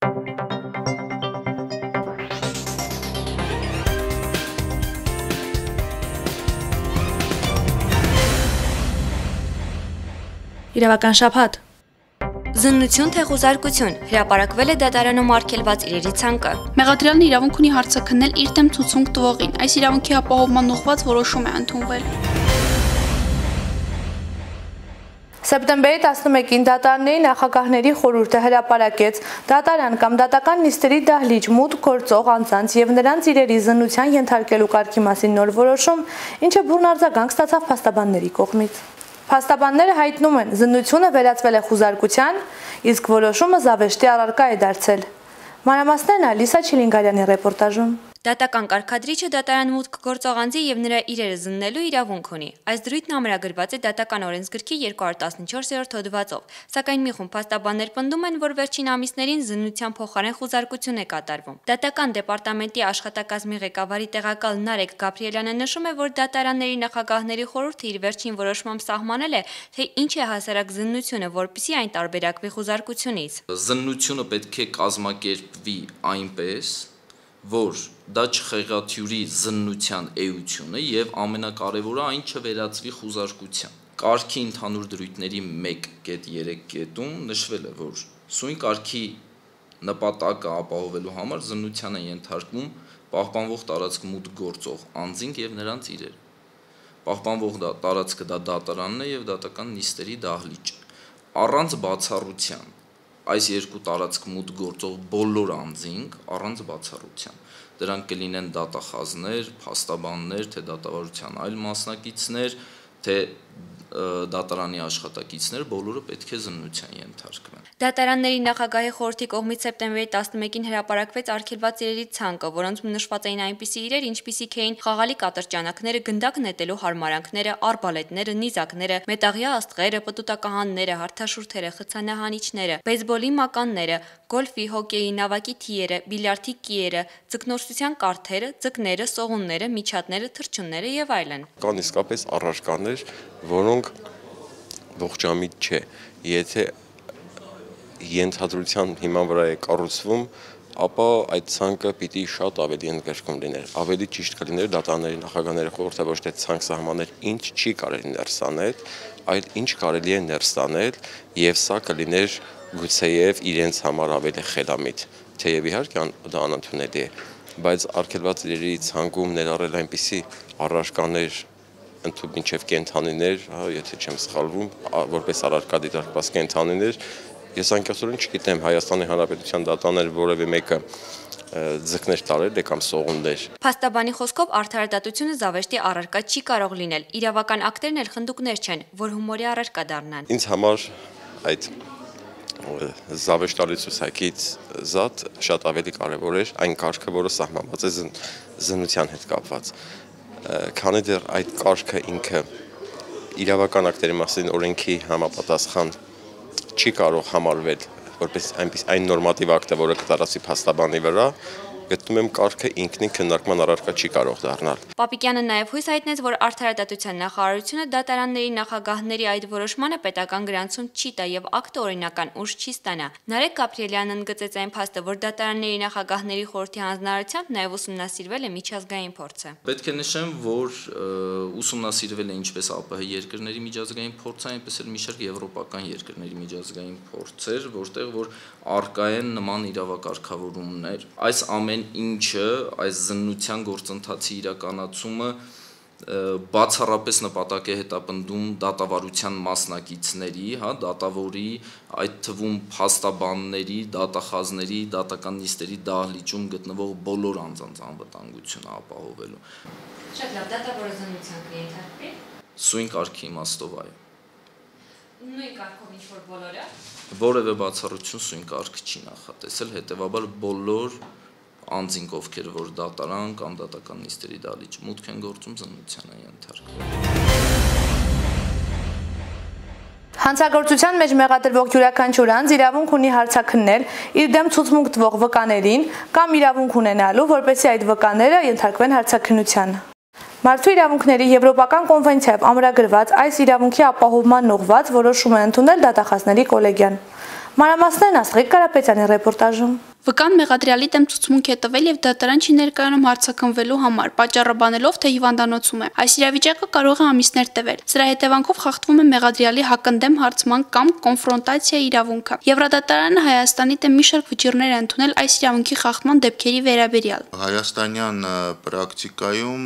Իրավական շաբաթ։ Զննություն թե խուզարկություն հրապարակվել է դատարանում արգելված իրերի ցանկը։ Մեղադրյալն իրավունք ունի հարցը քննել իր դեմ ցուցմունք տվողին։ Այս իրավունքի ապահովման ուղղված որոշում է ընդունվել։ Սեպտեմբերի 11-ին դատարանների նախագահների խորհուրդը հրապարակեց դատարան կամ դատական նիստերի դահլիճ մուտք գործող անձանց եւ նրանց իրերի զննության ենթարկելու կարգի մասին նոր որոշում, ինչը բուռն արձագանք ստացավ փաստաբանների կողմից։ Փաստաբանները հայտնում են, զննությունը վերածվել է խուզարկության, իսկ որոշումը զավեշտի առարկա է դարձել։ Մանրամասներն Ալիսա Չիլինգարյանի ռեպորտաժում։ Դատական կարգադրիչը դատարան մուտք գործող անձի եւ նրա իրերը զննելու իրավունք ունի։ Այս դրույթն ամրագրված է դատական օրենսգրքի 214-րդ հոդվածով, սակայն մի խումբ փաստաբաններ պնդում են, որ վերջին ամիսներին զննության փոխարեն խուզարկություն է կատարվում։ Դատական դեպարտամենտի աշխատակազմի ղեկավարի տեղակալ Նարեկ Գաբրիելյանը նշում է, որ դատարանների նախագահների խորհուրդը իր վերջին որոշմամբ սահմանել է, թե ինչ է հասարակ զննությունը, որպեսզի այն տարբերակվի խուզարկությունից։ Զննությունը պետք է կազմակերպվի այնպես, որ դա չխեղաթյուրի զննության էությունը եւ ամենակարևորը այն չվերածվի խուզարկության։ Կարգի ընդհանուր դրույթների 1.3 կետում նշվել է, որ սույն կարգի նպատակը ապահովելու համար զննության են ենթարկվում պահպանվող տարածք մուտք գործող անձինք եւ նրանց իրերը։ Պահպանվող տարածքը դա դատարանն է եւ դատական նիստերի դահլիճը։ Առանց բացառության այս երկու տարածք մուտք գործող բոլոր անձինք առանց բացառության դրանք կլինեն դատախազներ, փաստաբաններ, թե դատավարության այլ մասնակիցներ, թե դատարանի աշխատակիցներ, բոլորը պետք է զննության ենթարկվեն։ Դատարանների նախագահի խորհրդի կողմից սեպտեմբերի 11-ին հրապարակվեց արգելված իրերի ցանկը, որոնց նշված էին այնպիսի իրեր, ինչպիսիք էին խաղալի կատրճանակները, գնդակ նետելու հարմարանքները, արբալետները, նիզակները, մետաղյա աստղերը, պտուտակահանները, հարթաշուրթերը, խցանահանիչները, բեյսբոլի մականները, գոլֆի, հոկեյի, նավակի թիերը, բիլիարդի կիերը, ձկնորսության կարթերը, ձկները, սողունները, միջատները, թռչունները եւ այլն։ Կան իսկապես առարկաներ, որոնք ողջամիտ չէ, եթե ենթադրության հիման վրա է կառուցվում, ապա այդ ցանկը պիտի շատ ավելի ընդգրկում լիներ, ավելի ճիշտ կլիներ դատարանների նախագահների խորհուրդը ոչ թե ցանկ սահմանել, ինչ չի կարելի ներս անել, այլ ինչ կարելի է ներս անել, եւ սա կլիներ գուցեև իրենց համար ավելի խելամիտ, թեև իհարկե դա անընդունելի է, բայց արգելված իրերի ցանկում ներառել այնպիսի առարկաներ մինչև կենթանիներ, եթե չեմ սխալվում, որպես առարկա դիտարկված կենթանիներ, ես անկեղծորեն չգիտեմ Հայաստանի Հանրապետության դատարաններ որևէ մեկը ձկներ տարել է կամ սողուններ։ Փաստաբանի խոսքով արդարադատությունը զավեշտի առարկա չի կարող լինել։ Իրավական ակտերն էլ խնդուկներ չեն, որ հումորի առարկա դառնան։ Ինձ համար այդ զավեշտալի ցուցակից զատ շատ ավելի կարևոր էր այն կարգը, որը սահմանված է զննության հետ կապված։ Քանի դեռ այդ կարգը ինքը իրավական ակտերի մասին օրենքի համապատասխան չի կարող համարվել որպես այն նորմատիվ ակտը, որը կտարածվի փաստաբանի վրա, գտնում եմ կարգը ինքնին քննարկման առարկա չի կարող դառնալ։ Պապիկյանը նաև հույս հայտնեց, որ արդարադատության նախարարությունը դատարանների նախագահների այդ որոշմանը պետական գրանցում չի տա եւ ակտը օրինական ուժ չի ստանա։ Նարեկ Գաբրիելյանն ընդգծեց այն փաստը, որ դատարանների նախագահների խորհրդի հանձնարարությամբ նաև ուսումնասիրվել է միջազգային փորձը։ Պետք է նշեմ, որ ուսումնասիրվել է ինչպես ԱՊՀ երկրների միջազգային փորձը, այնպես էլ մի շարք եվրոպական երկրների միջազգային փորձեր, որտեղ որ արկա են նման իրավակարգավորումներ։ Այս ամեն ինչը, այս զննության գործընթացի իրականացումը բացառապես նպատակ է հետապնդում դատավարության մասնակիցների, դատավորի, այդ թվում փաստաբանների, դատախազների, դատական նիստերի դահլիճում գտնվող բոլոր անձանց անվտանգությունը ապահովելու։ Շատ լավ, դատավորը զննության կենթարկվի։ Սույն կարգի իմաստով այո։ Նույն կարգով ինչ որ բոլորը։ Որևէ բացառություն սույն կարգ չի նախատեսել, հետևաբար բոլոր անձինք, ովքեր որ դատարան կամ դատական նիստերի դահլիճ մուտք են գործում, զննության են ենթարկվում։ Հանցագործության մեջ մեղադրվող յուրաքանչյուր անձ իրավունք ունի հարցաքննել իր դեմ ցուցմունք տվող վկաներին կամ իրավունք ունենալու, որպեսզի այդ վկաները ենթարկվեն հարցաքննության։ Մարդու իրավունքների Եվրոպական կոնվենցիայով ամրագրված այս իրավունքի ապահովման ուղղված որոշում է ընդունել դատախազների կոլեգիան։ Մանրամասներն Աստղիկ Կարապետյանի ռեպորտաժում։ Վկան մեղադրյալի դեմ ցուցմունք է տվել եւ դատարան չի ներկայանում հարցաքննվելու համար, պատճառը բանելով, թե հիվանդանոցում է։ Այս իրավիճակը կարող է ամիսներ տևել։ Սրա հետևանքով խախտվում է մեղադրյալի հակընդդեմ հարցման կամ կոնֆրոնտացիա իրավունքը։ Եվրոդատարանը Հայաստանի դեմ մի շարք վճիռներ է ընդունել այս իրավունքի խախտման դեպքերի վերաբերյալ։ Հայաստանյան պրակտիկայում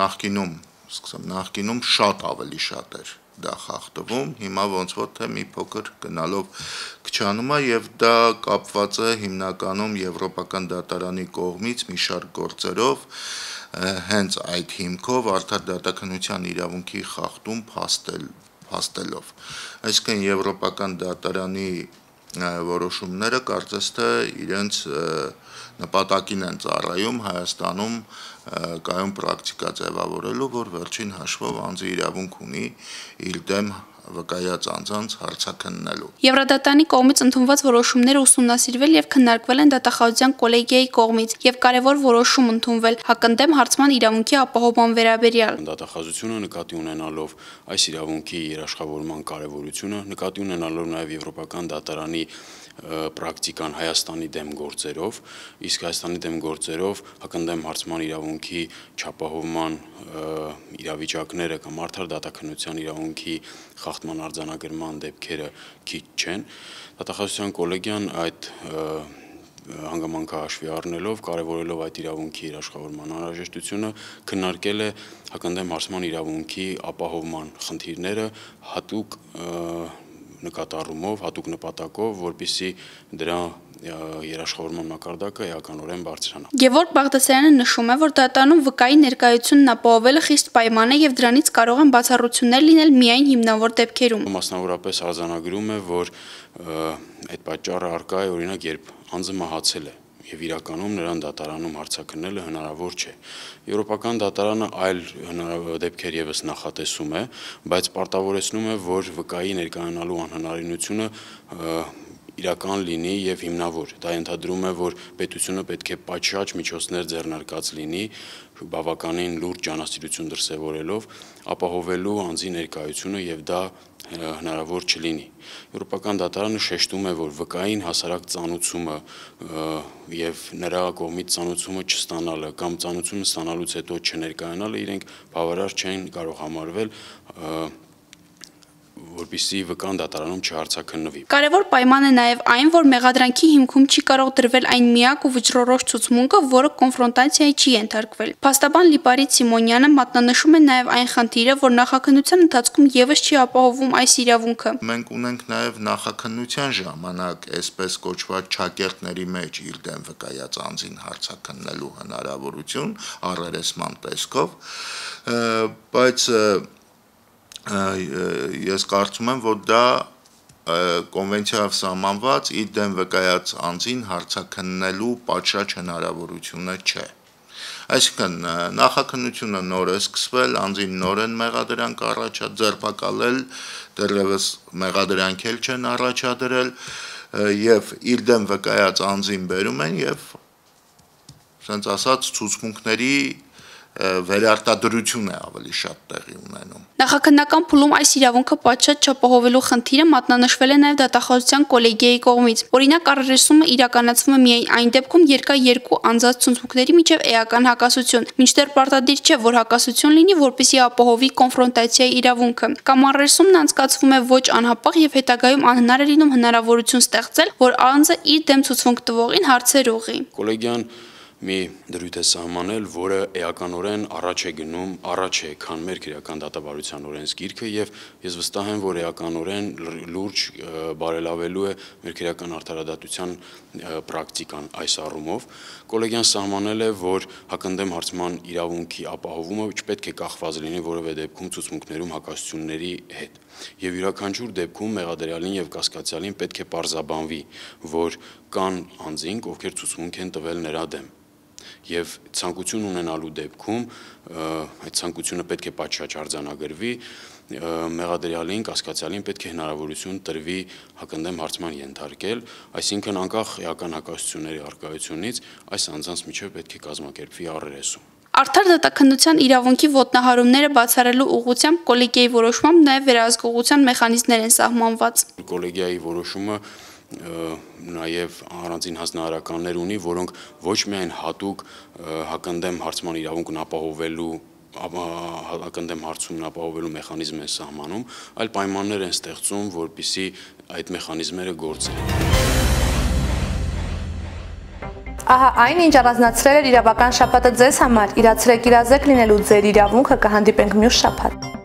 նախկինում շատ ավելի շատ էր դա խախտվում, հիմա ոնց որ թե մի փոքր գնալով քչանում է եւ դա կապված է հիմնականում Եվրոպական դատարանի կողմից մի շարք գործերով հենց այդ հիմքով արդար դատականության իրավունքի խախտում փաստելով։ Այսինքն Եվրոպական դատարանի որոշումները կարծես թե իրենց նպատակին են ծառայում Հայաստանում կայուն պրակտիկա ձևավորելու, որ վերջին հաշվով անձի իրավունք ունի իր դեմ վկայած անձանց հարցաքննելու։ Եվրոդատարանի կողմից ընդունված որոշումները ուսումնասիրվել եւ քննարկվել են դատախազության կոլեգիայի կողմից եւ կարեւոր որոշում ընդունվել հակընդդեմ հարցման իրավունքի ապահովման վերաբերյալ։ Դատախազությունը նկատի ունենալով այս իրավունքի երաշխավորման կարևորությունը, նկատի ունենալով նաեւ Եվրոպական դատարանի պրակտիկան Հայաստանի դեմ գործերով, իսկ Հայաստանի դեմ գործերով հակընդդեմ հարցման իրավունքի չապահովման իրավիճակները կամ արդար դատականության իրավունքի խախտման արձանագրման դեպքերը քիչ չեն։ Դատախազության կոլեգիան այդ հանգամանքը հաշվի առնելով, կարևորելով այդ իրավունքի երաշխավորման անհրաժեշտությունը, քննարկել է հակընդդեմ հարցման իրավունքի ապահովման խնդիրները հատուկ նկատառումով, հատուկ նպատակով, որպեսզի դրա երաշխավորման մակարդակը էականորեն բարձրանա։ Գևորգ Բաղդասարյանը նշում է, որ դատարանում վկայի ներկայությունն ապահովելը խիստ պայման է եւ դրանից կարող են բացառություններ լինել միայն հիմնավոր դեպքերում։ Մասնավորապես արձանագրում է, որ այդ պատճառը առկա է օրինակ, երբ անձը մահացել է եւ իրականում նրան դատարանում հարցաքննելը հնարավոր չէ։ Եվրոպական դատարանը այլ դեպքեր եւս նախատեսում է, բայց պարտավորեցնում է, որ վկայի ներկայանալու անհնարինությունը իրական լինի եւ հիմնավոր։ Դա ենթադրում է, որ պետությունը պետք է պատշաճ միջոցներ ձեռնարկած լինի, բավականին լուրջ ջանասիրություն դրսևորելով, ապահովելու անձի ներկայությունը եւ դա հնարավոր չլինի։ Եվրոպական դատարանը շեշտում է, որ վկային հասարակ ծանուցումը եւ նրա կողմից ծանուցումը չստանալը կամ ծանուցումը ստանալուց հետո չներկայանալը իրենք բավարար չեն կարող համարվել որպեսզի վկան դատարանում չհարցաքննվի։ Կարևոր պայման է նաև այն, որ մեղադրանքի հիմքում չի կարող դրվել այն միակ ու վճռորոշ ցուցմունքը, որը կոնֆրոնտացիայի չի ենթարկվել։ Փաստաբան Լիպարիտ Սիմոնյանը մատնանշում է նաև այն խնդիրը, որ նախաքննության ընթացքում եւս չի ապահովում այս իրավունքը։ Մենք ունենք նաև նախաքննության ժամանակ այսպես կոչված չակերտների մեջ իր դեմ վկայած անձին հարցաքննելու հնարավորություն առերեսման տեսքով, բայց ես կարծում եմ, որ դա կոնվենցիայով սահմանված իր դեմ վկայած անձին հարցաքննելու պատշաճ հնարավորությունը չէ։ Այսինքն նախաքննությունը նոր է սկսվել, անձին նոր են մեղադրանք ձերբակալել, դեռևս մեղադրանք էլ չեն առաջադրել եւ իր դեմ վկայած անձին բերում են եւ ասենց ասած ցուցմունքների վերարտադրություն է ավելի շատ տեղի ունենում։ Նախաքննական փուլում այս իրավունքը պատշաճ չապահովելու խնդիրը մատնանշվել է նաև դատախազության կոլեգիայի կողմից։ Օրինակ, առերեսումը իրականացվում է միայն այն դեպքում, երբ կա երկու անձած ցուցմունքների միջև էական հակասություն, մինչդեռ պարտադիր չէ, որ հակասություն լինի, որպեսզի ապահովի կոնֆրոնտացիայի իրավունքը։ Կամ առերեսումն անցկացվում է ոչ անհապաղ եւ հետագայում անհնար է լինում հնարավորություն ստեղծել, որ անձը իր դեմ ցուցմունք տվողին հարցեր ուղղի։ Կոլեգիան մի դրույթ է սահմանել, որը էականորեն առաջ է գնում, առաջ է քան մեր քրեական դատավարության օրենսգիրքը եւ ես վստահ եմ, որ էականորեն լուրջ բարելավելու է մեր քրեական արդարադատության պրակտիկան այս առումով։ Կոլեգիան սահմանել է, որ հակընդդեմ հարցման իրավունքի ապահովումը չպետք է կախված լինի որևէ դեպքում ցուցմունքներում հակասությունների հետ։ Եվ յուրաքանչյուր դեպքում մեղադրյալին եւ կասկածյալին պետք է պարզաբանվի, որ կան անձինք, ովքեր ցուցմունք են տվել նրա դեմ։ Եվ ցանկություն ունենալու դեպքում այդ ցանկությունը պետք է պատշաճ արձանագրվի, մեղադրյալին, կասկածյալին պետք է հնարավորություն տրվի հակընդդեմ հարցման ենթարկել, այսինքն անկախ էական հակասությունների առկայությունից այս անձանց միջև պետք է կազմակերպվի առերեսում։ Արդար դատաքննության իրավունքի ոտնահարումները բացառելու ուղղությամբ կոլեգիայի որոշմամբ նաև վերահսկողության մեխանիզմներ են սահմանված։ Կոլեգիայի որոշումը նաև առանձին հանձնարարականներ ունի, որոնք ոչ միայն հատուկ հակընդդեմ հարցման իրավունքն ապահովելու հակընդդեմ հարցումն ապահովելու մեխանիզմ են սահմանում, այլ պայմաններ են ստեղծում, որպեսզի այդ մեխանիզմները գործեն։ Ահա այն, ինչ առանձնացրել էր իրավական շաբաթը ձեզ համար, իրացրեք իրազեկ լինելու ձեր իրավունքը, կհանդիպենք մյուս շաբաթ։